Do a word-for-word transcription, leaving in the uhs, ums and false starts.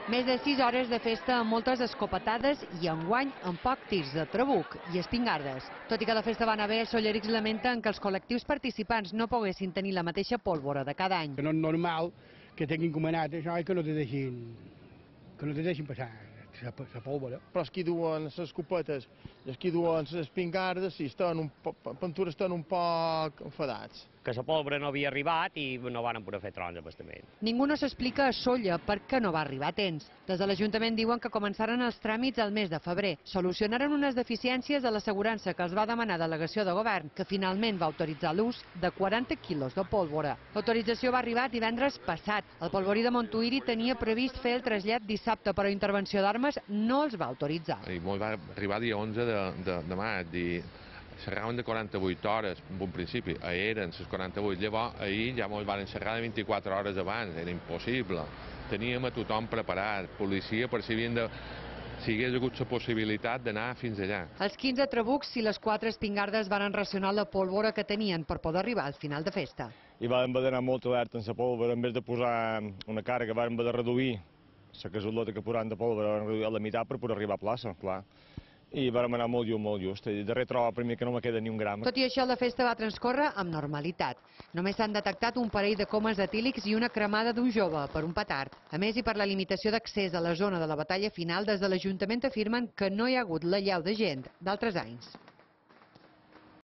Més de sis hores de festa amb moltes escopetades i enguany amb poc tirs de trabuc i espingardes. Tot i que la festa va anar bé, els sollerics lamenten que els col·lectius participants no poguessin tenir la mateixa pólvora de cada any. No és normal que tinguin comanat això i que no te deixin, que no te deixin passar la pólvora. Però els que duen les escopetes i els que duen les espingardes, sí, estan un poc, pintura estan un poc enfadats. Que la pólvora no havia arribat i no van poder fer trons abastament. Ningú no s'explica a Sóller per què no va arribar a temps. Des de l'Ajuntament diuen que començaren els tràmits al mes de febrer. Solucionaren unes deficiències de l'assegurança que els va demanar delegació de govern, que finalment va autoritzar l'ús de quaranta quilos de pólvora. L'autorització va arribar divendres passat. El polvorí de Montuïri tenia previst fer el trasllat dissabte, però intervenció d'armes no els va autoritzar. I molt va arribar dia onze de, de, de maig i xerraven de quaranta-vuit hores, en un principi, eren les quaranta-vuit, llavors ahir ja ens van xerrar de vint-i-quatre hores abans, era impossible. Teníem a tothom preparat, policia per si havien de... si hi hagués hagut la possibilitat d'anar fins allà. Els quinze trabucs i les quatre espingardes van racionar la pólvora que tenien per poder arribar al final de festa. I vam haver d'anar molt alerta en la pólvora, en vez de posar una càrrega, vam haver de reduir la casolota que posàvem de pólvora, vam reduir a la meitat per poder arribar a plaça, clar. I vam anar molt just, molt just. I darrer troba primer que no me queda ni un gram. Tot i això, la festa va transcórrer amb normalitat. Només s'han detectat un parell de comes etílics i una cremada d'un jove per un petard. A més, i per la limitació d'accés a la zona de la batalla final, des de l'Ajuntament afirmen que no hi ha hagut l'allau de gent d'altres anys.